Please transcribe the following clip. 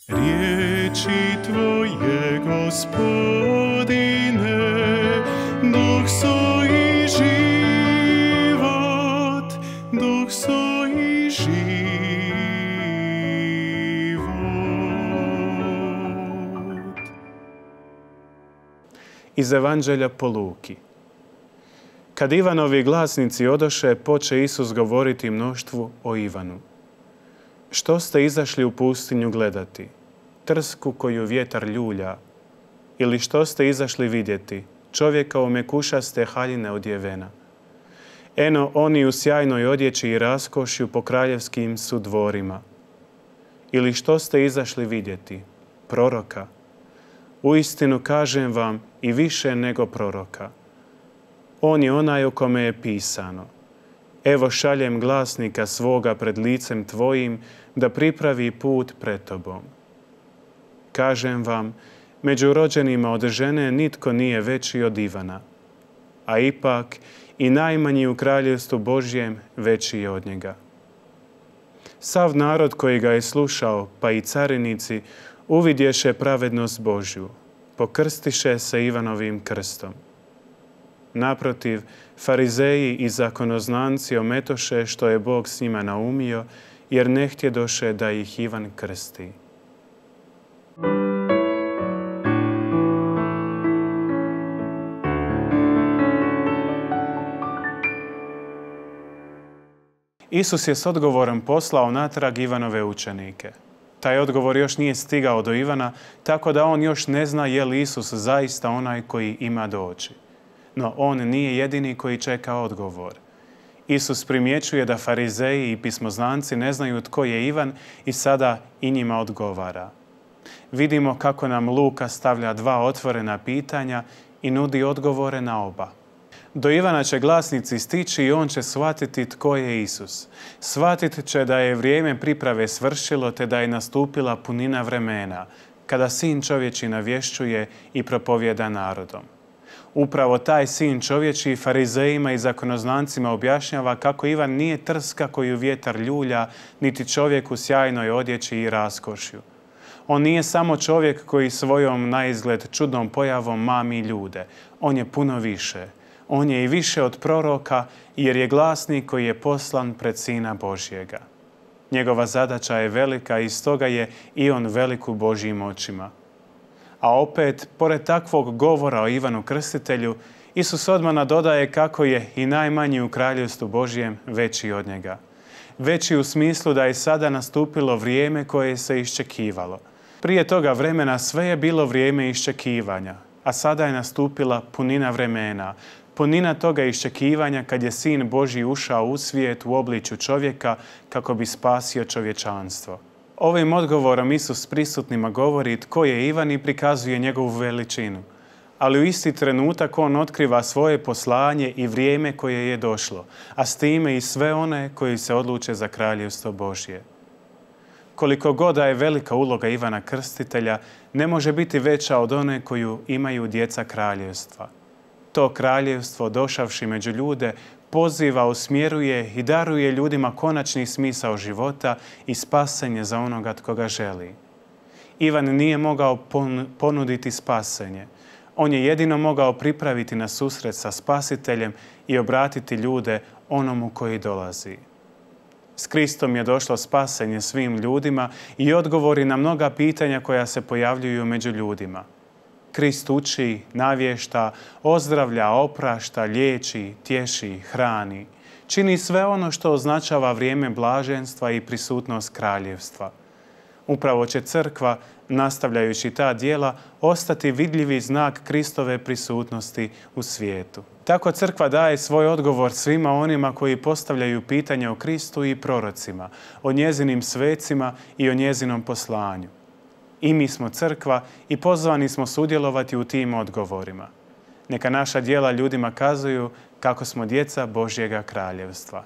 Riječi Tvoje, Gospodine, duh su i život, duh su i život. Iz Evanđelja po Luki. Kad Ivanovi glasnici odoše, poče Isus govoriti mnoštvu o Ivanu. Što ste izašli u pustinju gledati? Trsku koju vjetar ljulja? Ili što ste izašli vidjeti? Čovjeka u mekušaste haljine odjevena. Eno, oni u sjajnoj odjeći i raskošju po kraljevskim su dvorima. Ili što ste izašli vidjeti? Proroka. Uistinu kažem vam, i više nego proroka. On je onaj o kome je pisano. Evo šaljem glasnika svoga pred licem tvojim, da pripravi put pred tobom. Kažem vam, među rođenima od žene nitko nije veći od Ivana, a ipak i najmanji u kraljevstvu Božjem veći je od njega. Sav narod koji ga je slušao, pa i carinici, uvidješe pravednost Božju, pokrstiše se Ivanovim krstom. Naprotiv, farizeji i zakonoznanci ometoše što je Bog s njima naumio, jer ne htjedoše da ih Ivan krsti. Isus je s odgovorom poslao natrag Ivanove učenike. Taj odgovor još nije stigao do Ivana, tako da on još ne zna je li Isus zaista onaj koji ima doći. No on nije jedini koji čeka odgovor. Isus primjećuje da farizeji i pismoznanci ne znaju tko je Ivan i sada i njima odgovara. Vidimo kako nam Luka stavlja dva otvorena pitanja i nudi odgovore na oba. Do Ivana će glasnici stići i on će shvatiti tko je Isus. Shvatit će da je vrijeme priprave svršilo te da je nastupila punina vremena, kada Sin čovječji navješćuje i propovjeda narodom. Upravo taj Sin čovječji farizejima i zakonoznancima objašnjava kako Ivan nije trska koju vjetar ljulja, niti čovjek u sjajnoj odjeći i raskošju. On nije samo čovjek koji svojom naizgled čudnom pojavom mami ljude. On je puno više. On je i više od proroka, jer je glasnik koji je poslan pred Sina Božjega. Njegova zadaća je velika i stoga je i on velik u Božjim očima. A opet, pored takvog govora o Ivanu Krstitelju, Isus odmah nadodaje kako je i najmanji u kraljevstvu Božjem veći od njega. Veći u smislu da je sada nastupilo vrijeme koje se iščekivalo. Prije toga vremena sve je bilo vrijeme iščekivanja, a sada je nastupila punina vremena, punina toga iščekivanja kad je Sin Božji ušao u svijet u obličju čovjeka kako bi spasio čovječanstvo. Ovim odgovorom Isus prisutnima govori tko je Ivan i prikazuje njegovu veličinu. Ali u isti trenutak on otkriva svoje poslanje i vrijeme koje je došlo, a s time i sve one koji se odluče za kraljevstvo Božje. Koliko god da je velika uloga Ivana Krstitelja, ne može biti veća od one koju imaju djeca kraljevstva. To kraljevstvo, došavši među ljude, poziva, usmjeruje i daruje ljudima konačni smisao života i spasenje za onoga tko ga želi. Ivan nije mogao ponuditi spasenje. On je jedino mogao pripraviti na susret sa Spasiteljem i obratiti ljude onomu koji dolazi. S Kristom je došlo spasenje svim ljudima i odgovori na mnoga pitanja koja se pojavljuju među ljudima. Krist uči, navješta, ozdravlja, oprašta, liječi, tješi, hrani. Čini sve ono što označava vrijeme blaženstva i prisutnost kraljevstva. Upravo će crkva, nastavljajući ta djela, ostati vidljivi znak Kristove prisutnosti u svijetu. Tako crkva daje svoj odgovor svima onima koji postavljaju pitanja o Kristu i prorocima, o njezinim svecima i o njezinom poslanju. I mi smo crkva i pozvani smo sudjelovati u tim odgovorima. Neka naša djela ljudima kazuju kako smo djeca Božjega kraljevstva.